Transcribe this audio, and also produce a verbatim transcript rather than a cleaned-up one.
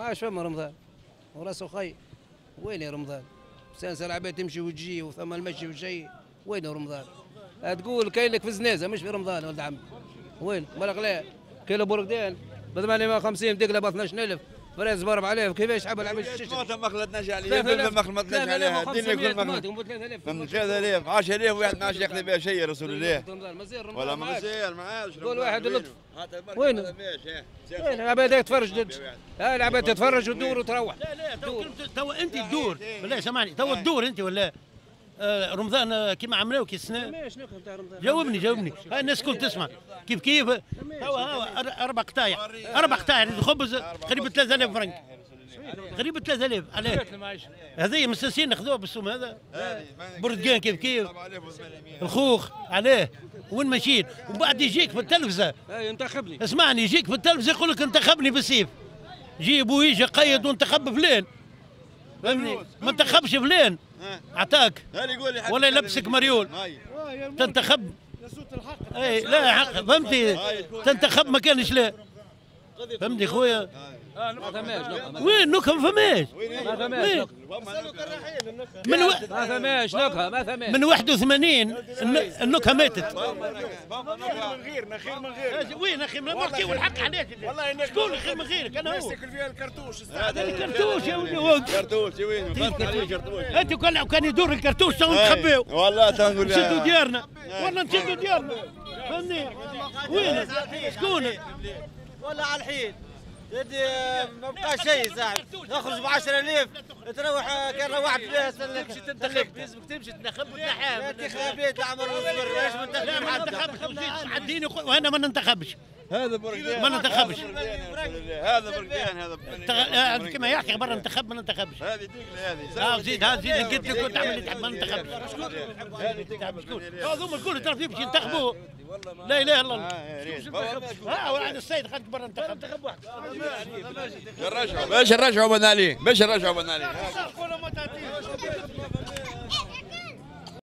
ما عادش فما رمضان وراسه خي. وين يا رمضان؟ سانسة العباد تمشي وتجي وثم المشي والشيء، وين رمضان؟ تقول كاين لك في زنازه مش في رمضان ولد عمي. وين؟ بالك لا كيلو برقدان ب ثمانمائة وخمسين دقله ب اثناش ألف fraise ب أربعة آلاف، كيفاش حاب العباد الطماطم ما خلطناش عليها، ما خلطناش عليها، الدنيا كل ما ثلاثة آلاف عشرة آلاف واحد ما عادش ياخذ بها شيء يا رسول الله. ولا مازال ما عادش قول واحد اللطف. وين؟ وين العباد تتفرج؟ ها العباد تتفرج وتدور وتروح. لا لا تو تو انت تدور بالله سامعني، تو تدور انت ولا آه رمضان كيما عملوا كي السنة؟ جاوبني جاوبني، هاي الناس الكل تسمع كيف كيف. تو اربع قطايع اربع قطايع الخبز قريب ثلاثة آلاف فرنك، قريب ثلاثة آلاف. علاه هذه مساسين ناخذوها بالسوم هذا؟ برتقان كيف كيف، الخوخ علاه وين ماشيين؟ ومن بعد يجيك في التلفزة ينتخبني، اسمعني، يجيك في التلفزة يقول لك انتخبني بالسيف، جيب ويجي قيد وانتخب فلان، فهمني؟ ما انتخبش فلان عطاك ولا يلبسك مريول تنتخب. اي لا حق، فهمتي؟ تنتخب ما كانش لا، فهمتي خويا؟ ما فماش نكهة. وين نكهة؟ ما فماش. ما فماش من و... ما فماش نكهة، ما فماش. من واحد وثمانين النكهة ماتت. خير من غيرنا، خير من غيرنا. وين اخي؟ ما نحكيو الحق علاش؟ والله شكون خير من غيرك؟ انا هو. ياكل فيها الكرتوش. هذا الكرتوش يا ولدي. الكرتوش وين؟ الكرتوش. انت كان كان يدور الكرتوش تو نتخباو. والله تنقول نشدوا ديارنا، والله نشدوا ديارنا، فهمني؟ وين؟ شكون؟ والله على الحين ما بقى شيء صاحبي، نخرج ب عشرة آلاف تروح كان روحت بها تمشي تنتخب، لازمك تمشي تنتخب وتنحاها. انتخابات العمر والصبر، علاش ما لا ما ننتخبش وزيد عديني وانا ما ننتخبش. هذا برقدان ما ننتخبش. هذا برقدان هذا كما يحكي برا ننتخب ما ننتخبش. هذه دقله هذه. اه زيد ها زيد قلت لك كنت تعمل اللي تحب ما ننتخبش. شكون؟ هذوما الكل تعرف باش ينتخبوا. لا اله الا الله. ها وعند السيد خليك برا انتخب. انتخب واحد. نرجعوا باش نرجعوا بن علي، باش نرجعوا بن علي.